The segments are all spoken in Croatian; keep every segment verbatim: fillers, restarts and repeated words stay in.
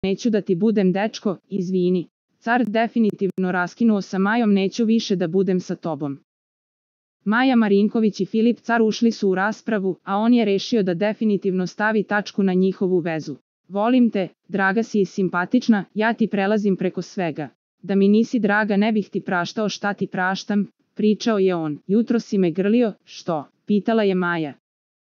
neću da ti budem dečko, izvini. Car definitivno raskinuo sa Majom, neću više da budem sa tobom. Maja Marinković i Filip Car ušli su u raspravu, a on je rešio da definitivno stavi tačku na njihovu vezu. Volim te, draga si i simpatična, ja ti prelazim preko svega. Da mi nisi draga ne bih ti praštao šta ti praštam, pričao je on. Jutro si me grlio, što? Pitala je Maja.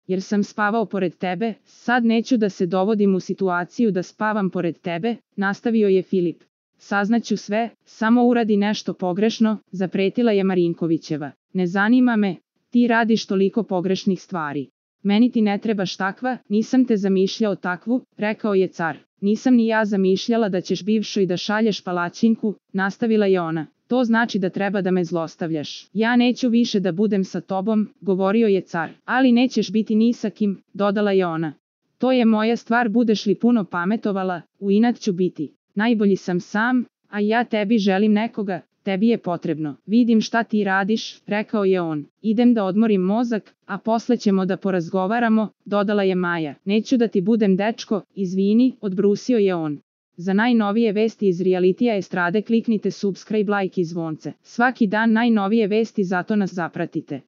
Jer sam spavao pored tebe, sad neću da se dovodim u situaciju da spavam pored tebe, nastavio je Filip. Saznaću sve, samo uradi nešto pogrešno, zapretila je Marinkovićeva. Ne zanima me, ti radiš toliko pogrešnih stvari. Meni ti ne trebaš takva, nisam te zamišljao takvu, rekao je Car. Nisam ni ja zamišljala da ćeš bivšoj da šalješ palačinku, nastavila je ona. To znači da treba da me zlostavljaš. Ja neću više da budem sa tobom, govorio je Car. Ali nećeš biti ni sa kim, dodala je ona. To je moja stvar, budeš li puno pametovala, u inat ću biti. Najbolji sam sam, a ja tebi želim nekoga, tebi je potrebno. Vidim šta ti radiš, rekao je on. Idem da odmorim mozak, a posle ćemo da porazgovaramo, dodala je Maja. Neću da ti budem dečko, izvini, odbrusio je on. Za najnovije vesti iz realitija estrade kliknite subscribe, like i zvonce. Svaki dan najnovije vesti, zato nas zapratite.